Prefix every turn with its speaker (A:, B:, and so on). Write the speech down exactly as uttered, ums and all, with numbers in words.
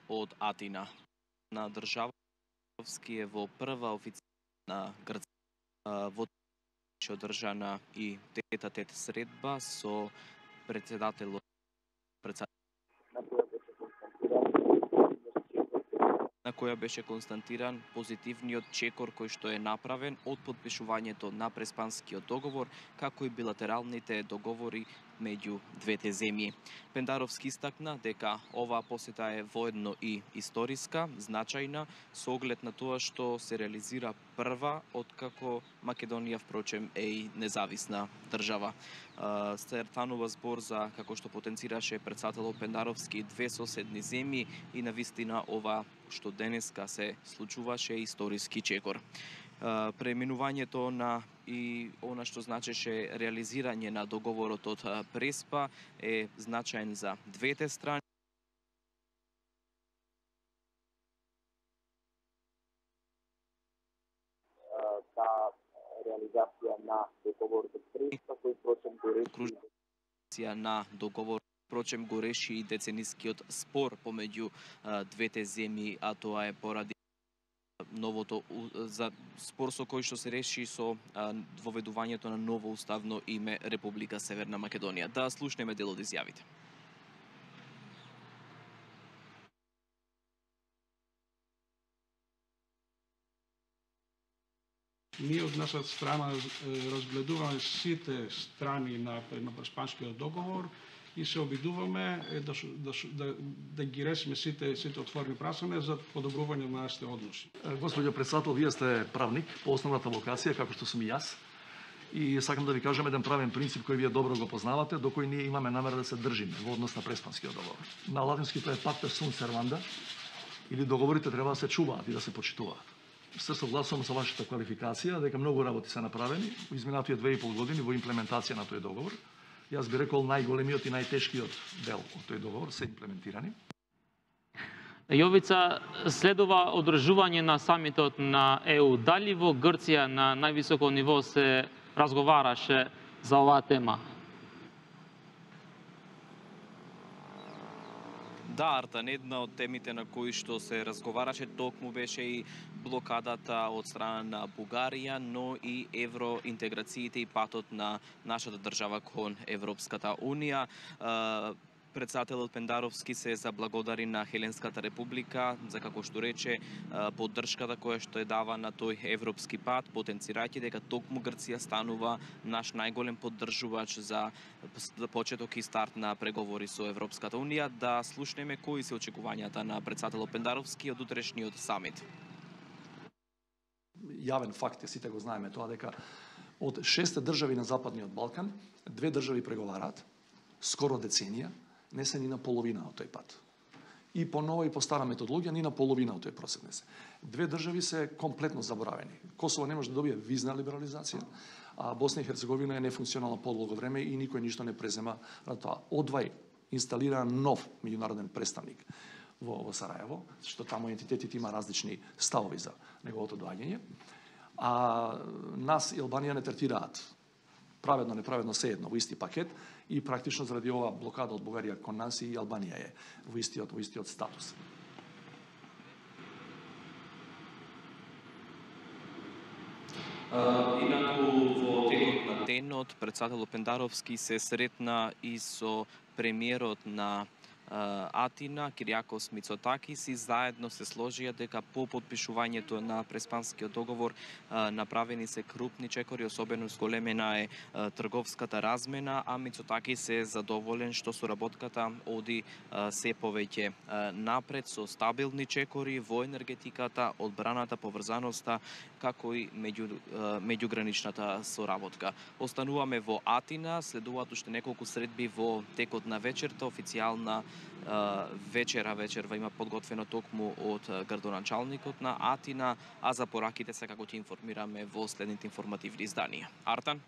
A: од Атина. На државски е во прва официјална Грција во беше одржана и тет-а-тет средба со председателот на која беше констатиран позитивниот чекор кој што е направен од подпишувањето на Преспанскиот договор, како и билатералните договори меѓу двете земји. Пендаровски истакна дека оваа посета е воедно и историска, значајна, со оглед на тоа што се реализира прва откако Македонија впрочем е и независна држава. Се станува збор за, како што потенцираше председателот Пендаровски, две соседни земји и навистина ова што денеска се случуваше историски чекор. Преминувањето на и она што значеше реализирање на договорот од Преспа е значаен за двете страни.
B: Та реализација на договорот од Преспа, кој впрочем го реши
A: на договор впрочем го реши и деценискиот спор помеѓу двете земји, а тоа е поради новото за спор со кој што се реши со воведувањето на ново уставно име Република Северна Македонија. Да слушнеме дел од изјавите.
C: Ние од наша страна разгледуваме сите страни на, на Преспанскиот договор и се обидуваме да, да, да, да ги решиме сите, сите отворени прашања за подобрување на нашите односи.
D: Господјо председател, вие сте правник по основната вокација, како што сум и јас. И сакам да ви кажам еден правен принцип кој вие добро го познавате, до кој ние имаме намера да се држиме во однос на Преспанскиот договор. На латински тоа е пакта sunt servanda, или договорите треба да се чуваат и да се почитуваат. Се согласувам со вашата квалификација дека многу работи се направени во изминатите две и пол години во имплементација на тој договор. Јас би рекол најголемиот и најтешкиот дел од тој договор се имплементирани.
E: Јовица, следува одржување на самитот на Е У. Дали во Грција на највисоко ниво се разговараше за оваа тема?
A: Да, Артан, една од темите на кои што се разговараше токму беше и блокадата од страна на Бугарија, но и евроинтеграциите и патот на нашата држава кон Европската Унија. Председателот Пендаровски се заблагодари на Хеленската република за, како што рече, поддршката која што е дава на тој европски пат, потенцирајќи дека токму Грција станува наш најголем поддржувач за почеток и старт на преговори со Европската Унија. Да слушнеме кои се очекувањата на председателот Пендаровски од утрешниот самит.
D: Јавен факт е, сите го знаеме тоа, дека од шест држави на Западниот Балкан, две држави преговараат скоро деценија, не се ни на половина од тој пат. И по нова и по стара методологија ни на половина од тој процес не се. Две држави се комплетно заборавени. Косово не може да добие визна либерализација, а Босна и Херцеговина е нефункционална подолго време и никој ништо не презема на тоа. Одвај инсталира нов меѓународен представник во, во Сараево, што таму ентитетите има различни ставови за неговото доаѓање. А нас и Албанија не третираат праведно, неправедно се едно во исти пакет и практично заради ова блокада од Бугарија кон нас и Албанија е во истиот, во истиот статус.
A: Инаку во текот на денот председателот Пендаровски се сретна и со премиерот на Атина, Кириакос Мицотакис, и заедно се сложија дека по подпишувањето на Преспанскиот договор направени се крупни чекори, особено зголемена е трговската размена, а Мицотакис е задоволен што соработката оди се повеќе напред со стабилни чекори во енергетиката, одбраната, поврзаноста, како и меѓу, меѓуграничната соработка. Остануваме во Атина, следуваат уште неколку средби во текот на вечерта, официјална вечера вечерва има подготвено токму од градоначалникот на Атина, а за пораките се како ќе информираме во следните информативни изданија. Артан?